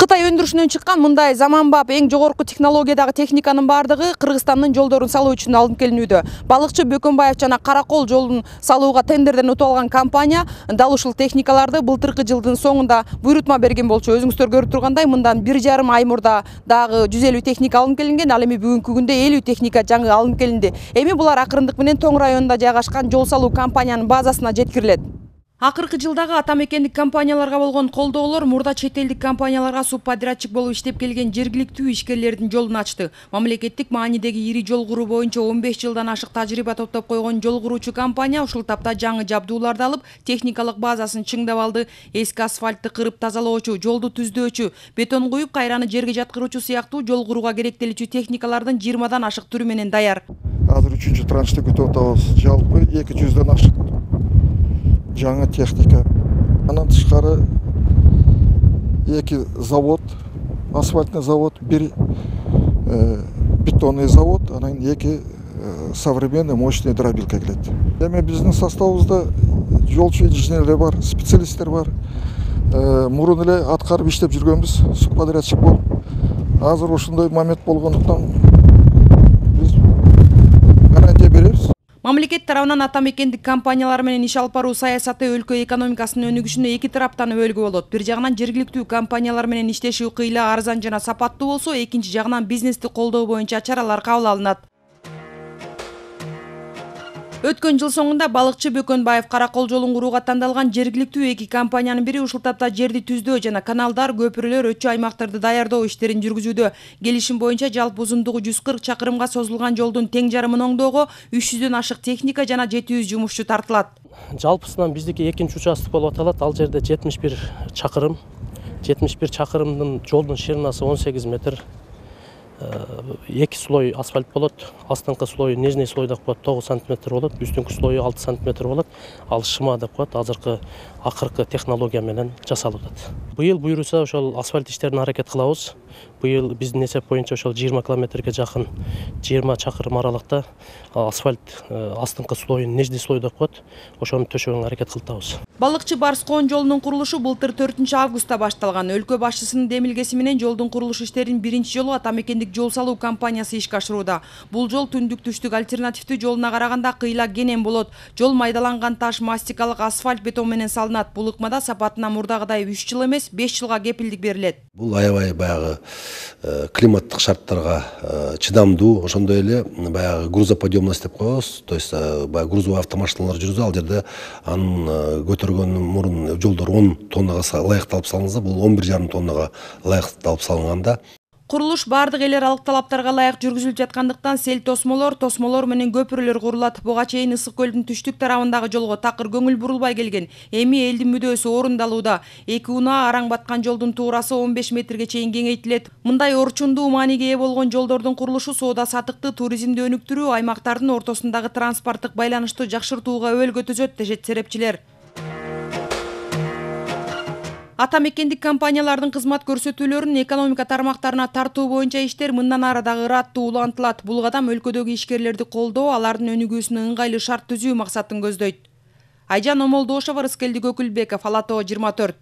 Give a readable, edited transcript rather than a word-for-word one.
Кытай өндүрүшүнөн чыккан мындай заманбап эң жогорку технологиядагы техниканын бардыгы Кыргызстандын жолдорун салуу үчүн алынып келинүүдө. Балыкчы Бөкөнбаев жана Каракол жолун салууга тендерден утуп алган компания дал ушул техникаларды былтыркы жылдын соңунда буйрутма берген болчу. Өзүңүздөр көрүп тургандай, мындан 1,5 ай мурда дагы 150 техника алынып келинген, ал эми бүгүнкү күндө 50 техника жаңы алынып келинди. Эми булар акырындык менен Тоң районунда жайгашкан жол салуу компаниянын базасына жеткирилет. Акыркы жылдагы ата мекендик компанияларга болгон колдоолор мурда чет элдик компанияларга субподрядчик болуп иштеп келген жергиликтүү ишкерлердин жолун ачты. Мамлекеттик маанидеги ири жол куруу боюнча 15 жылдан ашык тажрыйба топтоп койгон жол куруучу компания ушул тапта жаңы жабдууларды алып, техникалык базасын чыңдап алды. Эски асфальтты кырып тазалоочу, жолду түздөөчү, бетон куюп кайраны жерге жаткыруучу сыяктуу жол курууга керектелүүчү техникалардын 20дан ашык түрү менен даяр. Азыр 3-чү траншты күтүп атабыз. Жалпы 200дөн ашык жаңы техника. Андан тышкары 2 завод, асфальтный завод, 1 бетонный завод, анан 2 современный мощный дробилка келет. Эми биздин составыбызда жолчу инженерлер бар, специалисттер бар. Мурун эле аткарып иштеп жүргөнбүз, субподрядчик болуп. Азыр ошондой момент болгондуктан биз гарантия беребиз. Мамлекет тарабынан ата мекендик компаниялар менен иш алып баруу саясаты өлкө экономикасынын өнүгүшүнө 2 тараптан өбөлгө болот. Бир жагынан жергиликтүү компаниялар менен иштешүү кыйла, арзан жана сапаттуу болсо, экинчи жагынан бизнести колдоо боюнча чаралар кабыл алынат. Өткөн жыл соңунда балыкчы Бөкөнбаев Каракол жолун курууга тандалган жергиликтүү 2 компаниянын бири ушул тапта жерди түздөө жана каналдар, көпүрөлөр, өтчү аймактарды даярдоо иштерин жүргүзүүдө. Келишим боюнча жалпы узундугу 140 чакырымга созулган жолдун тең жарымын оңдоого 300дөн ашык техника жана 700 жумушчу тартылат. Жалпысынан биздики экинчи участок болуп аталат. Ал жерде 71 чакырым. 71 чакырымдын жолдун ширинасы 18 метр. 2 слой асфальт болот. Астыңкы слой, нижний слой деп коет 9 см болот, үстүнкү слою 6 см болот. Ал шыма деп коет, азыркы акыркы технология менен жасалып атат. Быйыл буйруса ошол асфальт иштерин аракет кылабыз. Быйыл биздин эсеп боюнча ошол 20 километрге жакын 20 чакырым аралыкта асфальт астыңкы слойун, нижний слой деп коет, ошону төшөгөнгө аракет кылтабыз. Балыкчы Барскоон жолунун курулушу былтыр 4-августта башталган. Өлкө башчысынын демилгеси менен жолдун курулуш иштерин биринчи жолу ата мекендик жол салуу компаниясы ишке ашырууда. Бул жол түндүк-түштүк альтернативдүү жолуна караганда кыйла кенен болот. Жол майдаланган таш, мастикалык асфальт, бетон менен салынат. Бул ыкмада сапатына мурдагыдай 3 жыл эмес, 5 жылга кепилдик берилет. Бул аябай баягы климаттык шарттарга чыдамдуу, ошондой эле баягы грузоподъемность деп коебуз. То есть баягы грузовой автомашиналар жүрүзө, ал жерде анын көтөргөн мурун жолдор 10 тоннага ылайыкталып салынса, бул 11,5 тоннага ылайыкталып салынганда. Курулуш бардык эл аралык талаптарга ылайык жүргүзүлүп жаткандыктан сел тосмолор менен көпүрөлөр курулат. Буга чейин Ысык көлдүн түштүк тарабындагы жолго такыр көңүл бурулбай келген. Эми элдин мүдөөсү орундалууда. 2 унаа араң баткан жолдун туурасы 15 метрге чейин кеңейтилет. Мындай орчундуу мааниге ээ болгон жолдордун курулушу соода сатыкты, туризмди өнүктүрүү, аймактардын ортосундагы транспорттук байланышты жакшыртууга өбөлгө төзөт, дешет серепчилер. Ата мекендик компаниялардын кызмат көрсөтүүлөрүн экономика тармактарына тартуу боюнча иштер мындан ары дагы ыраттуу улантылат. Бул кадам өлкөдөгү ишкерлерди колдоо, алардын өнүгүүсүнө ыңгайлуу шарт түзүү максатын көздөйт. Айжан Омолдошова, Рыскелди Көкүлбеков, Ала Тоо 24.